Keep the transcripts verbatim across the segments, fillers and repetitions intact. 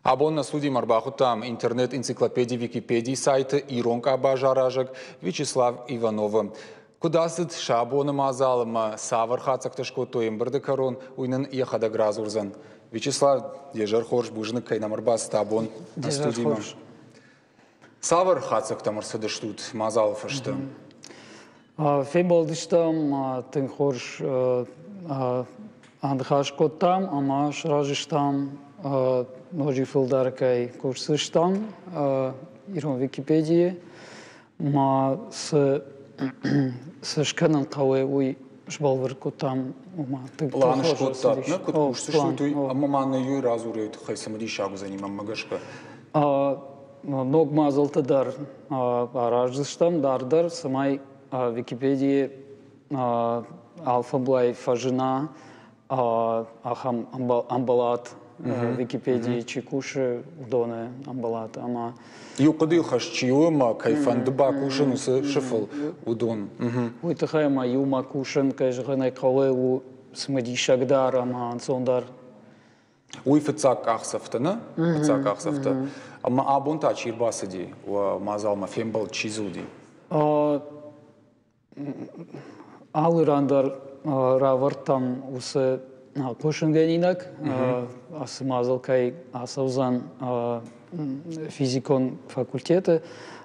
Абон нӕ студимӕ ӕрбахуыдтам интернет-энциклопеди Википедийы сайты ирон къабаз аразӕг Вячеслав Ивановы. Куыд ацыд сӕ абоны мадзал ӕмӕ цавӕр хатдзӕгтӕ скодтой ӕмбырды кӕрон, уый нын йӕхӕдӕг радзурдзӕн. Вячеслав, де зӕр хорз, бузныг, кӕй нӕм ӕрбацыд абон нӕ студимӕ. Цавӕр хатдзӕгтӕм ӕрцыдыстут мадзалы фӕстӕ? Фембӕлдыстӕм, тынг хорз аныхас кодтам ӕмӕ сразы стӕм, ноджы фылдӕр кӕй кусдзыстӕм ирон Википедийы. Ма цы цы скӕнын хъӕуы, уый сбӕлвырд кодтам. Ома тынг План скодтат, нӕ, куыд кусдзыстут, уый, ӕмӕ ма нӕ иу радзурӕйы тыххӕй цымыдисаг уыдзӕни мӕнмӕ гӕсгӕ. Ног мадзӕлттӕ дӕр араздзыстӕм дарддӕр, цӕмӕй Википедийы алфӕмблай фӕзына ахӕм ӕмбалад, Википедийы чи кусы, уыдоны ӕмбалад ӕмӕ иу хъуыдыйыл хӕст чи у ӕмӕ кӕй фӕнды бакусын уыцы сыфыл, уыдон. Уый тыххӕй ӕмӕ иумӕ кусын, кӕй зӕгъын ӕй хъӕуы, у цымыдисагдӕр ӕмӕ ӕнцондӕр. Уый фыццаг къахдзӕфтӕ, нӕ? Фыццаг къахдзӕфтӕ. Ӕмӕ абон та чи ӕрбацыди уӕ мадзалмӕ, фембӕлд чи дзы уыди? Алы ран дӕр равӕрдтам уыцы хъусынгӕнинаг, ацы мадзал кӕй ацӕудзӕн физикон факультеты,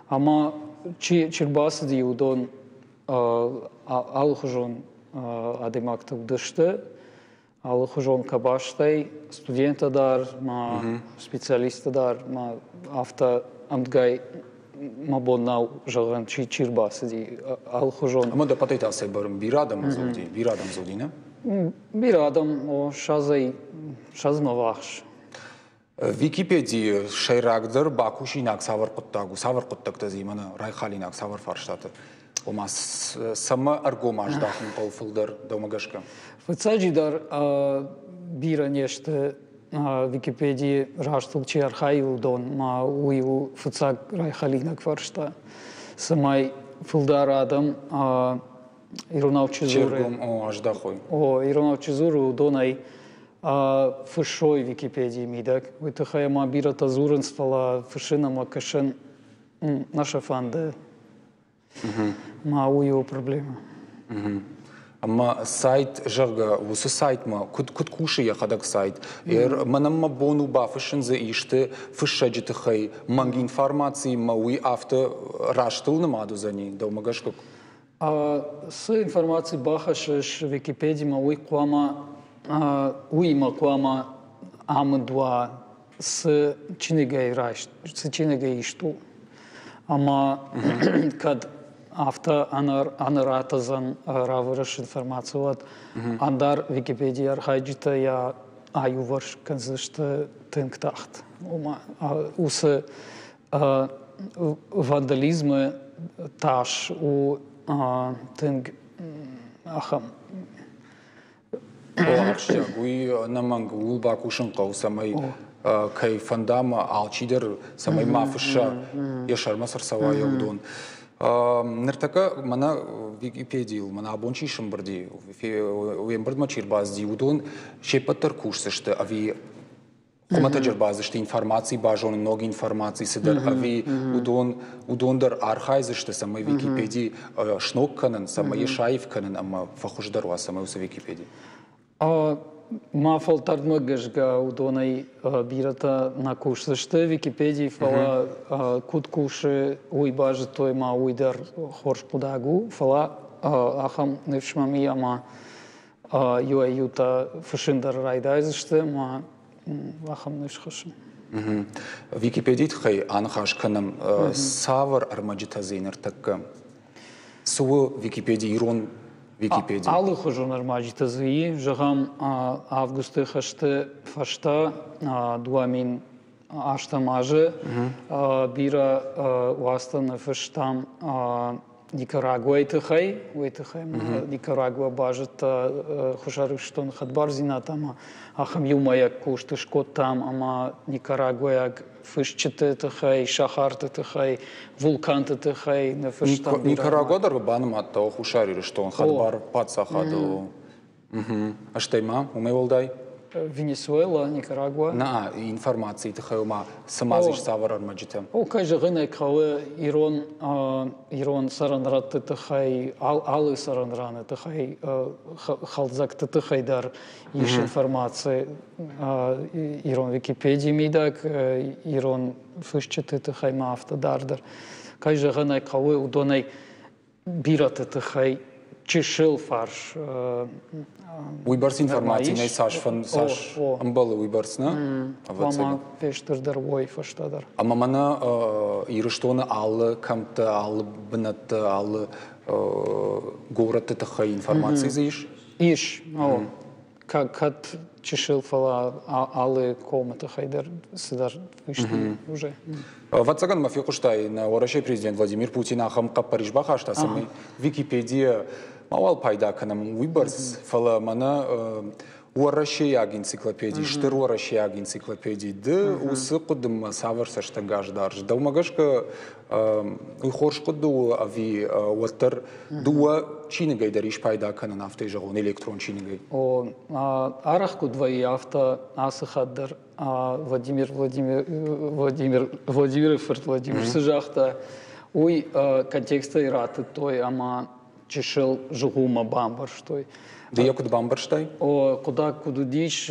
ӕмӕ чи чи рбацыди, уыдон алыхуызон адӕймӕгтӕ уыдысты, алыхуызон къабӕзтӕй, студенттӕ дӕр, ма специалисттӕ дӕр, ма афтӕ ӕмтгӕй мӕ бон нӕу зӕгъын, чи чи рбацыди, алыхуызон. Ӕмӕ дӕ пъатӕй та цӕй бӕрн бирӕ адӕм дзуди, бирӕ адӕм дзуди, нӕ? Бирӕ адӕм, о, ссӕдзӕй ссӕдзмӕ ввахс. Википедийы сӕйрагдӕр бакусинаг цавӕр хъуыддаг у, цавӕр хъуыддӕгтӕ дзы мӕнӕ райхалинаг цавӕр фарстаты? Ома, цӕмӕ ӕргом аздахын хъӕуы фылдӕр, дӕумӕ гӕсгӕ? Фыццаджыдӕр, бирӕ не сты Википедийы растыл чи архайы, уыдон, ма уый у фыццаг райхалинаг фарста, цӕмӕй фылдӕр адӕм иронау чи дзуры, о, аздахой. О, иронау чи дзуры, уыдонӕй фыссой Википедийы мидӕг. Уый тыххӕй ма бирӕтӕ дзурынц, фӕлӕ фыссын ӕмӕ кӕсын нӕ сӕ фӕнды. Ма уый у проблемӕ. Ӕмӕ сайт, зӕгъгӕ, уыцы сайтмӕ куыд, куыд кусы йӕхӕдӕг сайт? Мӕнӕн мӕ бон у бафыссын дзы исты фыссӕджы тыххӕй мӕнг информаци, мӕ уый афтӕ растыл нымад уыдзӕни, дӕумӕ гӕсгӕ? Цы информаци бахӕссыс Википедимӕ, уый хъуамӕ уыимӕ хъуамӕ амынд уа, цы чиныгӕй райст, цы чиныгӕй ист у. Ӕмӕ кӕд афтӕ ӕнӕратӕдзӕн равӕрыс информаци, уӕд ӕндӕр Википедийы архайджытӕ йӕ аиуварс кӕндзысты тынг тагъд. Ома уыцы вандализмы тас у тынг ахӕм. Ахсджиаг, уый ӕнӕмӕнг ууыл бакусын хъӕуы, цӕмӕй кӕй фӕнда ӕмӕ алчидӕр цӕмӕй ма фысса, йӕ сӕрмӕ цы рцӕуа, йӕ уыдон. Ныртӕккӕ мӕнӕ Википедийыл, мӕнӕ абон чи сӕмбырди, уе мбырдмӕ чи ӕрбацыди, уыдон се ппӕт дӕр кусдзысты ӕви хуымӕтӕджы ӕрбацыдысты информаци базонын, ног информаци цыдӕр, ӕви уыдон, уыдон дӕр архайдзысты, цӕмӕй Википеди сног кӕнын, цӕмӕй йӕ саив кӕнын ӕмӕ фӕхуыздӕр уа, цӕмӕй уыцы Википеди? Мӕ фӕлтӕрдмӕ гӕсгӕ, уыдонӕй бирӕтӕ нӕ кусдзысты Википедийы, фӕлӕ куыд кусы, уый базыдтой ма уый дӕр хорз хъуыдаг у. Фӕлӕ ахӕм ныфс мӕм и, ӕмӕ иуӕй-иутӕ фыссын дӕр райдайдзысты, ӕмӕ ахӕм ныфс хӕссын. Википедийы тыххӕй аныхас кӕнӕм. Цавӕр ӕрмӕджытӕ дзы ныртӕккӕ? Цы у Википеди, ирон Википеди? Алыхуызон ӕрмӕджытӕ дзы и. Зӕгъӕм, августы хӕсты фӕстӕ дыууӕ мин ӕстӕм азы бирӕ уацтӕ ныффыстам Никарагуайы тыххӕй. Уый тыххӕй Никарагуа базыдта Хуссар Ирыстоны хӕдбардзинад ӕмӕ ахӕм иумӕйаг куыст скодтам ӕмӕ никарагуайаг фысджыты тыххӕй, сахарты тыххӕй, вулканты тыххӕй ныффыстам. Никарагуа дӕр банымадта Хуссар Ирыстон хӕдбар паддзахадыл. Стӕй ма, уымӕй уӕлдай? Венесуэла, Никарагуа. Нӕ, информацийы тыххӕй ма цы ма дзы ис, цавӕр ӕрмӕджытӕ? О, кӕй зӕгъын ӕй хъӕуы, ирон, ирон цӕрӕнрӕтты тыххӕй, алы цӕрӕнраны тыххӕй, хӕлдзӕгты тыххӕй дӕр ис информаци ирон Википедийы мидӕг, ирон фысджыты тыххӕй ма афтӕ дарддӕр. Кӕй зӕгъын ӕй хъӕуы, уыдонӕй бирӕты тыххӕй чысыл фарс. Уыйбӕрц информаци нӕй, цас, цас ӕмбӕлы, уыйбӕрц, нӕ? Хъуамӕ фестырдӕр уой фӕстӕдӕр. Ӕмӕ мӕнӕ Ирыстоны алы кӕмтты, алы бынӕтты, алы горӕтты тыххӕй информаци дзы ис? Ис, о. Кӕд чысыл, фӕлӕ алы комы тыххӕй дӕр цыдӕр фыст уже. Ӕвӕццӕгӕн мӕ фехъуыстай, нӕ Уӕрӕсейы президент Владимир Путин ахӕм хъӕппӕрис бахаста, цӕмӕй Википедийӕ мауал пайда кӕнӕм уыйбӕрц, фӕлӕ мӕнӕ уӕрӕсейаг энциклопеди, стыр уӕрӕсейаг энциклопеди, ды уыцы хъуыдымӕ цавӕр цӕстӕнгас дарыс? Дӕумӕ гӕсгӕ уый хорз хъуыды у ӕви уӕддӕр дыууӕ чиныгӕй дӕр ис пайда кӕнын, афтӕ зӕгъон, электрон чиныгӕй? О, арӕх куыд вӕййы, афтӕ ацы хатт дӕр Владимир Владимир Владимир Владимиры фырт Владимир цы загъта, уый контекстӕй ратыдтой ӕмӕ чысыл зыгъуыммӕ бамбӕрстой. Ды йӕ куыд бамбӕрстай? О, хъуыддаг куыд уыдис,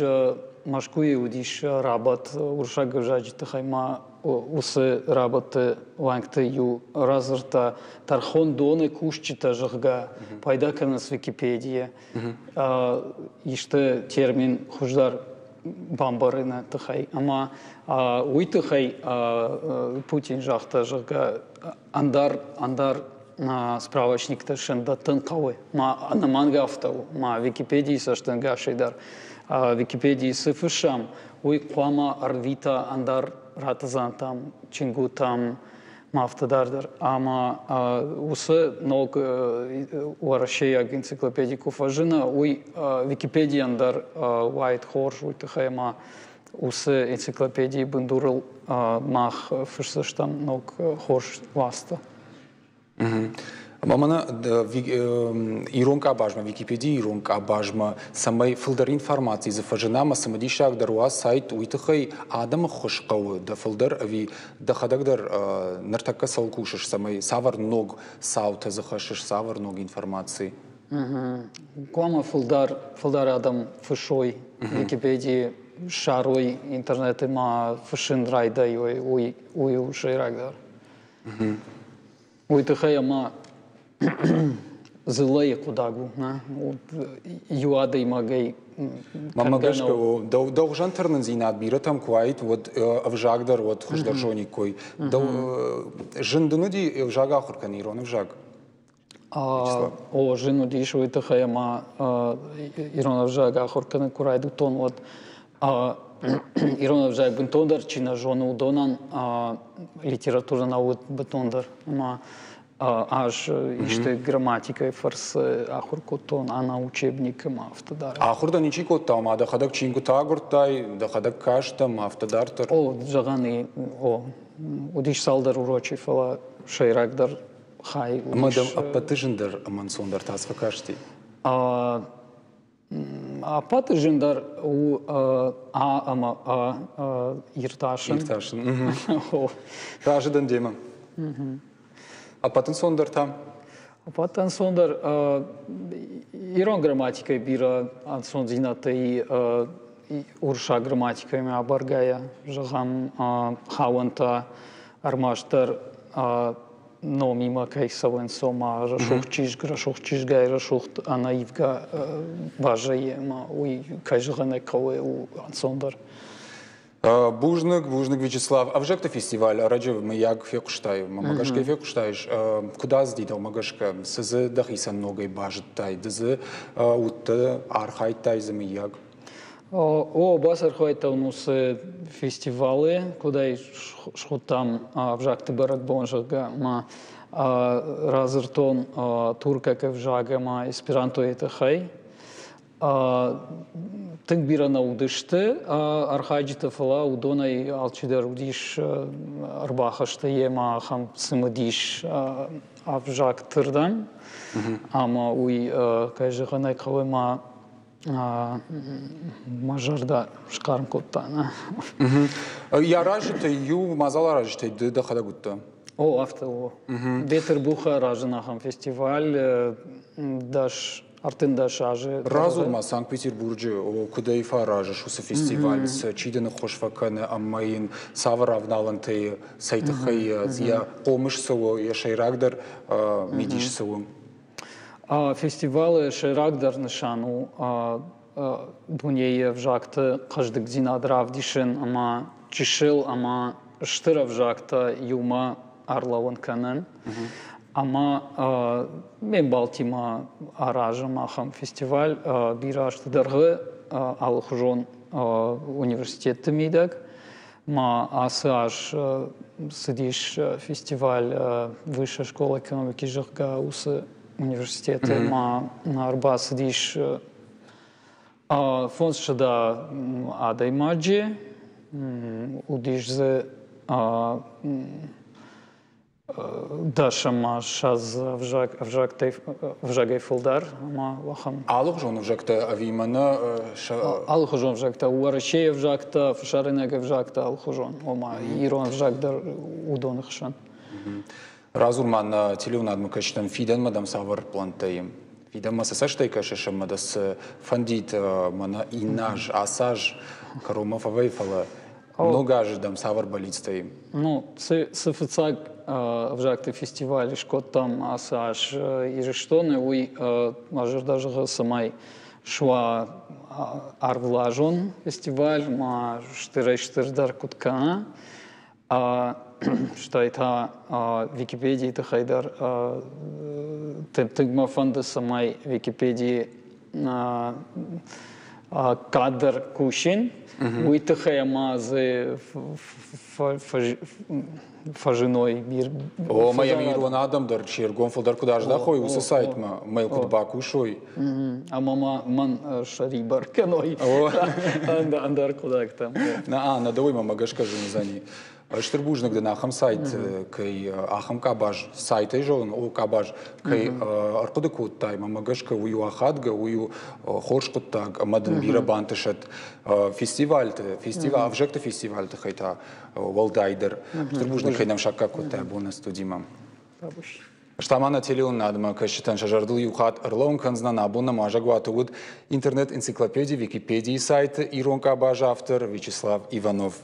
Мӕскуыйы уыдис рабадт уырыссаг ӕвзаджы тыххӕй ма уыцы рабадты уӕнгты иу радзырдта, тӕрхондоны кусджытӕ, зӕгъгӕ, пайда кӕнынц Википедийӕ. Исты термин хуыздӕр бамбарыны тыххӕй. Ӕмӕ уый тыххӕй Путин загъта, зӕгъгӕ, ӕндӕр, ӕндӕр справочниктӕ сын дӕттын хъӕуы. Ма ӕнӕмӕнг афтӕ у, ма Википедийы цӕстӕнгасӕй дӕр. Википедийы цы фыссӕм, уый хъуамӕ ӕрвита ӕндӕр ратӕдзӕнтӕм, чингуытӕм, ма афтӕ дарддӕр. Ӕмӕ уыцы ног уӕрӕсейаг энциклопеди куы фӕзына, уый Википедийӕн дӕр уаид хорз, уый тыххӕй ӕмӕ уыцы энциклопедийы бындурыл мах фысдзыстӕм ног хорз уацтӕ. Ӕмӕ мӕнӕ ирон къабазмӕ, Википедийы ирон къабазмӕ, цӕмӕй фылдӕр информаци дзы фӕзына ӕмӕ цымыдисагдӕр уа сайт, уый тыххӕй адӕмы ххуыс хъӕуы дӕ фылдӕр ӕви дӕхӕдӕг дӕр ныртӕккӕ цӕуыл кусыс, цӕмӕй цавӕр ног цаутӕ дзы хӕссыс, цавӕр ног информаци? Хъуамӕ фылдӕр, фылдӕр адӕм фыссой Википедийы, ссарой интернеты ма фыссын райдайой, уый, уый у сӕйрагдӕр. Уый тыххӕй ӕмӕ дзыллӕйы хъуыдаг у, нӕ? Иу адӕймагӕй Мӕнмӕ гӕсгӕ, дӕу, дӕу хуызӕн тырнындзинад бирӕтӕм куы уаид, уӕд ӕвзаг дӕр уӕд хуыздӕр зониккой. Дӕу зын дын уыди ӕвзаг ахуыр кӕнын, ирон ӕвзаг? О, зын уыдис уый тыххӕй ӕмӕ ирон ӕвзаг ахуыр кӕнын куы райдыдтон, уӕд ирон ӕвзаг бынтондӕр чи нӕ зоны, уыдонӕн литературӕ нӕ уыд бынтондӕр. Ӕмӕ ӕз исты грамматикӕйы фӕрцы ахуыр кодтон, ӕнӕ учебник ӕмӕ афтӕ дарддӕр. Ахуыр дӕ ничи кодта, ома дӕхӕдӕг чингуытӕ агуырдтай, дӕхӕдӕг кастӕ ӕмӕ афтӕ дарддӕр? О, зӕгъӕн, о, уыдис цалдӕр урочы, фӕлӕ сӕйрагдӕр хай уыдис. Ӕмӕ дӕм ӕппӕты зындӕр ӕмӕ ӕнцондӕр та цы фӕкасти? Ӕппӕты зындӕр у А ӕмӕ А иртасын. Иртасын. Разы дӕн демӕ. Ӕппӕт ӕнцондӕр та? Ӕппӕт ӕнцондӕр ирон грамматикӕйы бирӕ ӕнцондзинӕдтӕ и уырыссаг грамматикӕимӕ абаргӕйӕ. Зӕгъӕм, хауӕнтӕ ӕрмӕстдӕр номимӕ кӕй цӕуынц, ома рӕсугъд чызг, рӕсугъд чызгӕй рӕсугъд ӕнӕивгӕ баззайы, ӕмӕ уый, кӕй зӕгъын ӕй хъӕуы, у ӕнцондӕр. Бузныг, бузныг, Вячеслав. Ӕвзӕгты фестиваль ӕрӕджы мыййаг фехъуыстай, мӕ гӕсгӕ фехъуыстаис, куыд ацыди дӕумӕ гӕсгӕ, цы дзы дӕхицӕн ногӕй базыдтай, ды дзы уыдтӕ, архайдтай дзы мыййаг? О, бацархайдтон уыцы фестивалы, куыд ӕй схуыдтам ӕвзӕгты бӕрӕгбон, зӕгъгӕ, ӕмӕ радзырдтон туркаг ӕвзаг ӕмӕ эсперантойы тыххӕй. Тынг бирӕ нӕ уыдысты архайджытӕ, фӕлӕ уыдонӕй алчидӕр уыдис ӕрбахӕсты йемӕ ахӕм цымыдис ӕвзагты рдӕм. Ӕмӕ уый, кӕй зӕгъын ӕй хъӕуы, ма Мӕ зӕрдӕ схъарм кодта. Йӕ аразджытӕй иу мадзал аразджытӕй ды дӕхӕдӕг уыдтӕ? О, афтӕ у. Бетъырбухы аразын ахӕм фестиваль дӕс ӕртындӕс азы. Радзур ма Санкт-Петербурджы, куыдӕй фӕаразыс уыцы фестиваль, чи дын ӕххуыс фӕкӕны ӕмӕ йын цавӕр авналӕнтӕй, цӕй тыххӕй йӕ хъомыс цы у, йӕ сӕйрагдӕр мидис цы у? Фестивалы сӕйрагдӕр нысан у дунейы ӕвзӕгты хъӕздыгдзинад равдисын ӕмӕ чысыл ӕмӕ стыр ӕвзӕгтӕ иумӕ ӕрлӕууын кӕнын. Ӕмӕ ме мбалтимӕ аразӕм ахӕм фестиваль бирӕ азты дӕргъы алыхуызон университетты мидӕг. Ма ацы аз цыдис фестиваль Высшая школа экономики, зӕгъгӕ, уыцы университеты. Ма ӕрбацыдис фондзсӕдӕ адӕймаджы, уыдис дзы дӕс ӕмӕ ссӕдз ӕвзагӕй ӕвзагӕй фылдӕр ӕмӕ ахӕм. Алыхуызон ӕвзӕгтӕ ӕви мӕнӕ Алыхуызон ӕвзӕгтӕ, Уӕрӕсейы ӕвзӕгтӕ, фӕсарӕйнаг ӕвзӕгтӕ алыхуызон, ома ирон ӕвзаг дӕр уыдоны хсӕн. Радзур ма нӕ телеуынадмӕ кӕсджытӕн, фидӕнмӕ дӕм цавӕр пълӕнттӕ и? Фидӕнмӕ цы цӕстӕй кӕсыс ӕмӕ дӕ цы фӕндид мӕнӕ иннӕ аз, ацы аз кӕронмӕ фӕвӕййы, фӕлӕ ног азы дӕм цавӕр бӕллицтӕ и? Ну, цы, цы фыццаг ӕвзӕгты фестиваль скодтам ацы аз Ирыстоны, уый мӕ зӕрдӕ зӕгъы, цӕмӕй суа ӕрвылазон фестиваль, ма стырӕй-стырдӕр куыд кӕна. Стӕй та Википедийы тыххӕй дӕр тынг мӕ фӕнды, цӕмӕй Википедийы къаддӕр кусин, уый тыххӕй ӕмӕ дзы фӕзыной бир. О, ӕмӕ ирон адӕм дӕр се ргом фылдӕр куыд аздахой уыцы сайтмӕ, ӕмӕ йыл куыд бакусой. Ӕмӕ ма мӕн сӕрибар кӕной ӕндӕр хъуыддӕгтӕм. Нӕ, нӕ дӕуӕй мӕ гӕсгӕ зын уыдзӕни. Стыр бузныг дын ахӕм сайт кӕй ахӕм къабаз сайтӕй зонын, о къабаз кӕй ӕрхъуыды кодтай, мӕ гӕсгӕ уый у ахадгӕ, уый у хорз хъуыддаг ӕмӕ дын бирӕ бантысӕд фестивальты, фестиваль, ӕвзӕгты фестивальты тыххӕй та уӕлдайдӕр. Стыр бузныг, кӕй нӕм саккаг кодтай абон нӕ студимӕ. Стӕ ма нӕ телеуынынадмӕ кӕсджытӕн сӕ зӕрдыл иу хатт ӕрлӕууын кӕндзынӕн, абон нӕм уазӕгуаты уыд интернет-энциклопеди Википедийы сайты ирон къабазы автор Вячеслав Иванов.